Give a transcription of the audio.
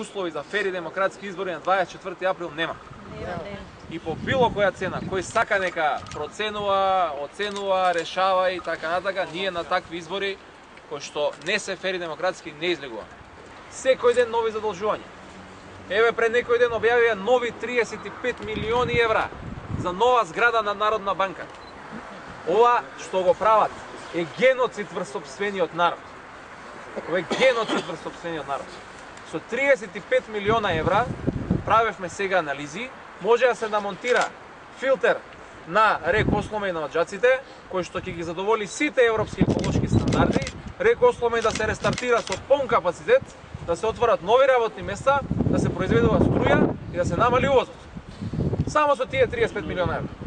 услови за фери демократски избори на 24 април нема. И по било која цена, кој сака нека проценува, оценува, решава и така натака, ние на такви избори кои што не се фери демократски не излегува. Секој ден нови задолжувања. Еве пред некој ден објавија нови 35 милиони евра за нова зграда на Народна банка. Ова што го прават е геноцид врз сопствениот народ. Ова е геноцид врз сопствениот народ. Со 35 милиона евра правевме сега анализи, може да се намонтира филтер на рек Осломе и на Оджаците, кој што ќе ги задоволи сите европски еколошки стандарди, рек Осломе да се рестартира со полн капацитет, да се отворат нови работни места, да се произведува струја и да се намали увозот. Само со тие 35 милиона евра.